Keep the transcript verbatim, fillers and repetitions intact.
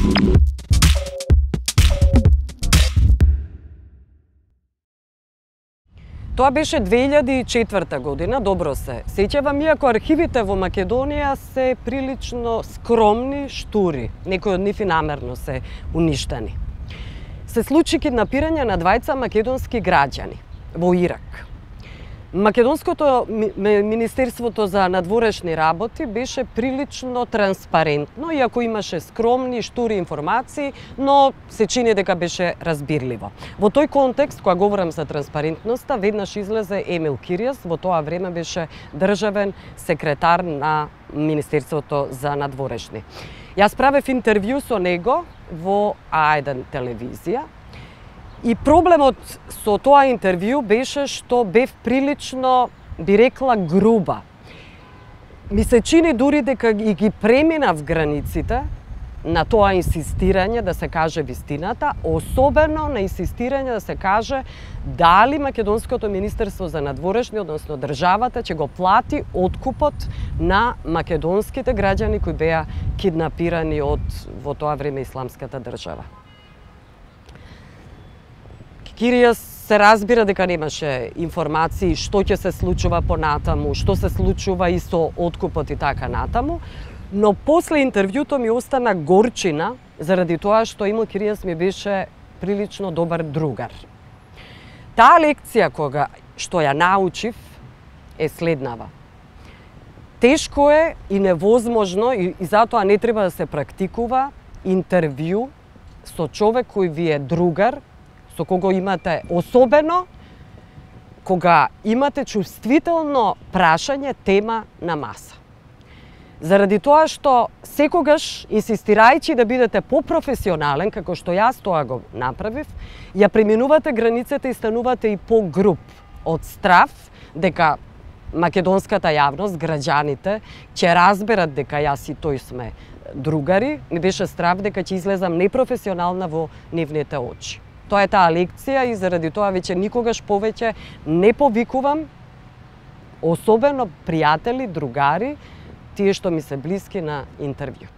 Тоа беше две илјади и четврта година, добро се сеќавам, иако архивите во Македонија се прилично скромни, штури, некои од нив и намерно се уништени. Се случи киднапирање на двајца македонски граѓани во Ирак. Македонското Министерството за надворешни работи беше прилично транспарентно, иако имаше скромни, штури информации, но се чини дека беше разбирливо. Во тој контекст, кога говорам за транспарентноста, веднаш излезе Емил Киријас, во тоа време беше државен секретар на Министерството за надворешни. Јас правев интервју со него во А еден телевизија. И проблемот со тоа интервју беше што бев прилично, би рекла, груба. Ми се чини дури дека и ги преминав границите на тоа инсистирање да се каже вистината, особено на инсистирање да се каже дали Македонското Министерство за надворешни, односно државата, ќе го плати откупот на македонските граѓани кои беа киднапирани од, во тоа време, Исламската држава. Киријас се разбира дека немаше информации што ќе се случува понатаму, што се случува и со откупот и така натаму, но после интервјуто ми остана горчина заради тоа што Емил Киријас ми беше прилично добар другар. Таа лекција кога што ја научив е следнава. Тешко е и невозможно и, и затоа не треба да се практикува интервју со човек кој ви е другар, со кого имате, особено кога имате чувствително прашање, тема на маса. Заради тоа што секогаш, инсистирајќи да бидете попрофесионален, како што јас тоа го направив, ја преминувате границата и станувате и по-груб од страв дека македонската јавност, граѓаните, ќе разберат дека јас и тој сме другари, ми беше страв дека ќе излезам непрофесионална во нивните очи. Тоа е таа лекција и заради тоа веќе никогаш повеќе не повикувам, особено пријатели, другари, тие што ми се блиски, на интервју.